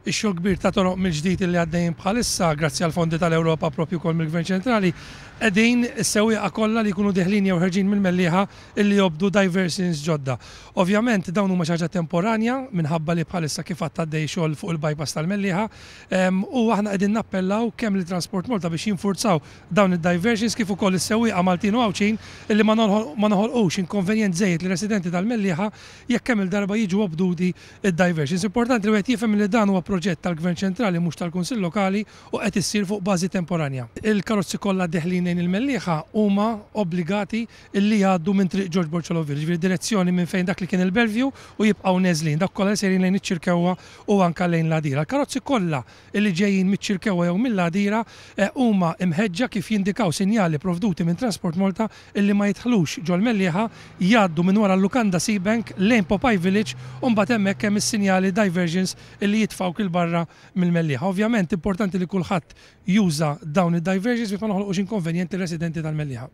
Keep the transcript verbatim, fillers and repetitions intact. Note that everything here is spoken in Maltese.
Ix-xogħol kbir ta' toroq mill-ġdid li għaddejjin bħalissa, grazzi għal fondi tal-Ewropa propju kol mill-Gvern Ċentrali, qegħdin is-sewwieqa kollha li jkunu deħlin jew ħerġin mill-Mellieħa illi jobdu diversions ġodda. Ovvjament dawn huma xi ħaġa temporanja minħabba li bħalissa kif għad għaddej xogħol fuq il-bypass tal-Mellieħa u aħna qegħdin nappellaw kemm lil Transport Malta biex jinfurzaw dawn id-diversions kif ukoll is-sewwieqa Maltin u Għawdxin illi ma noħolqux inkonvenjent żejjed lir-residenti tal-Mellieħa jekk kemm il-darba jiġu obduti id-diversions. Importanti li wieħed jifhem li dan huwa proġett tal-Gvern Ċentrali, mhux tal-Kunsill Lokali, u qed issir fuq bażi temporanja. Il-karozzi kollha deħlin lejn il-Mellieħa huma obbligati illi jgħaddu minn Triq Ġorġ Borg Olivier, ġifieri direzzjoni minn fejn dak li kien il-Bellevue, u jibqgħu neżlin dak kollha li sejrin lejn iċ-Ċirkewwa u anke lejn l-Għadira. Il-karozzi kollha illi ġejjin miċ-Ċirkewwa jew mill-Għadira huma imħeġġa kif jindikaw sinjali provduti minn Transport Malta illi ma jidħlux ġol-Mellieħa, jgħaddu minn wara l-Lukanda Seabank lejn Popeye Village u mbagħad hemmhekk hemm is-sinjali diversions illi jitfgħu kil barra mill-Mellieħa. Ovvjament importanti li kulħadd juża dawn id-diversions biex ma noħolqux inkonvenjenti residenti tal-Mellieħa.